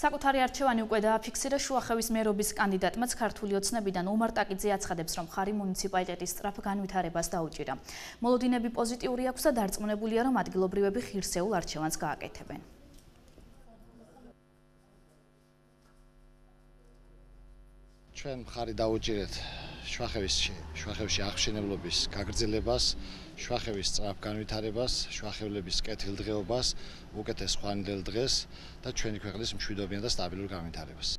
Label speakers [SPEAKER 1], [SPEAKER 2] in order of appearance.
[SPEAKER 1] საკუთარი არჩევანი უკვე დააფიქსირა შუახევის მერობის კანდიდატმაც ქართული ოცნებიდან ომარ ტაკიძე აცხადებს, რომ ხარი მუნიციპალიტეტის სწრაფ განვითარებას დაუჭირა. მოლოდინები პოზიტიური აქვს და დარწმუნებულია, რომ ადგილობრივები ღირსეულ არჩევანს გააკეთებენ.
[SPEAKER 2] ჩვენ ხარი დაუჭირეთ შუახევში აღშენებლობის გაგრძელებას, შუახევის სწრაფ განვითარებას, შუახევლების კეთილდღეობას, უკეთეს ხვალინდელ დღეს და ჩვენი ქვეყნის მშვიდობიან და სტაბილურ განვითარებას.